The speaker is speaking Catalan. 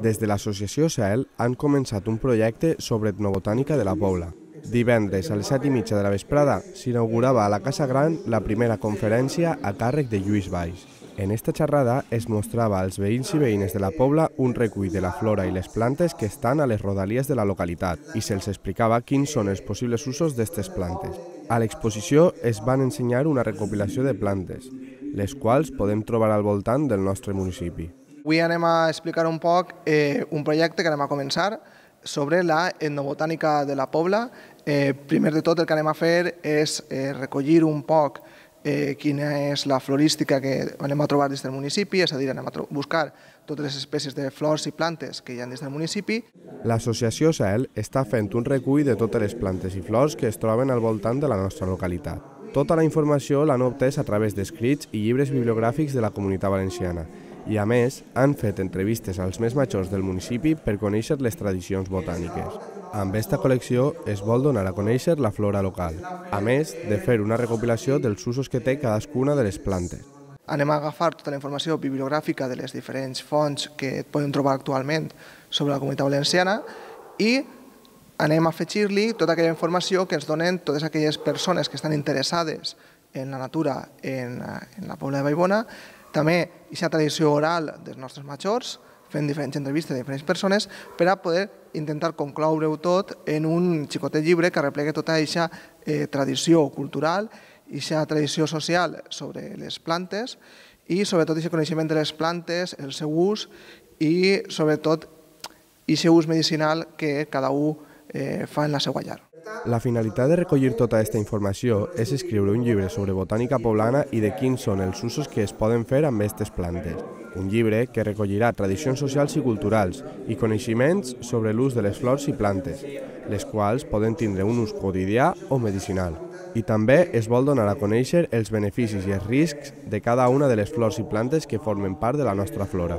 Des de l'associació CEL han començat un projecte sobre etnobotànica de la Pobla. Divendres a les 7:30 de la vesprada s'inaugurava a la Casa Gran la primera conferència a càrrec de Lluís Valls. En esta xerrada es mostrava als veïns i veïnes de la Pobla un recull de la flora i les plantes que estan a les rodalies de la localitat i se'ls explicava quins són els possibles usos d'aquestes plantes. A l'exposició es van ensenyar una recopilació de plantes, les quals podem trobar al voltant del nostre municipi. Avui anem a explicar un poc un projecte que anem a començar sobre la etnobotànica de la Pobla. Primer de tot el que anem a fer és recollir un poc quina és la florística que anem a trobar dins del municipi, és a dir, anem a buscar totes les espècies de flors i plantes que hi ha dins del municipi. L'associació CEL està fent un recull de totes les plantes i flors que es troben al voltant de la nostra localitat. Tota la informació l'han obtès a través d'escrits i llibres bibliogràfics de la Comunitat Valenciana i, a més, han fet entrevistes als més majors del municipi per conèixer les tradicions botàniques. Amb aquesta col·lecció es vol donar a conèixer la flora local, a més de fer una recopilació dels usos que té cadascuna de les plantes. Anem a agafar tota la informació bibliogràfica de les diferents fonts que podem trobar actualment sobre la Comunitat Valenciana i anem a afegir-li tota aquella informació que ens donen totes aquelles persones que estan interessades en la natura en la Pobla de Vallbona, també aquesta tradició oral dels nostres majors, fent diferents entrevistes de diferents persones per a poder intentar concloure-ho tot en un xicotet llibre que replegui tota aquesta tradició cultural i aquesta tradició social sobre les plantes i sobretot aquest coneixement de les plantes, el seu ús i sobretot aquest ús medicinal que cada un fa en la seva llar. La finalitat de recollir tota aquesta informació és escriure un llibre sobre botànica poblana i de quins són els usos que es poden fer amb aquestes plantes. Un llibre que recollirà tradicions socials i culturals i coneixements sobre l'ús de les flors i plantes, les quals poden tindre un ús quotidià o medicinal. I també es vol donar a conèixer els beneficis i els riscs de cada una de les flors i plantes que formen part de la nostra flora.